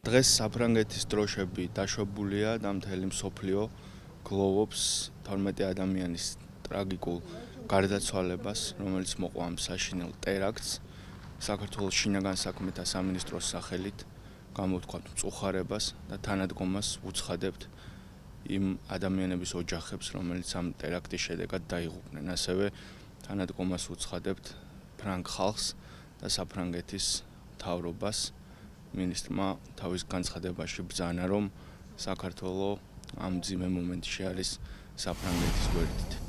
დღეს საფრანგეთის დროშები დაშვებულია და მთელი მსოფლიო გლოვობს 12 ადამიანის ტრაგიკულ გარდაცვალებას, რომელიც მოყვა ამ საშინელ ტერაქტს. საქართველოს შინაგან საქმეთა სამინისტროს სახელით გამოვთქვათ მწუხარებას და თანადგომას უცხადებთ იმ ადამიანების ოჯახებს, რომელიც ამ ტერაქტის შედეგად დაიღუპნენ. ასევე თანადგომას უცხადებთ ფრანგ ხალხს და საფრანგეთის მთავრობას. მინისტრმა თავის განცხადებაში ბრძანა, რომ საქართველო ამ მძიმე მომენტში არის საფრანგეთის გვერდით.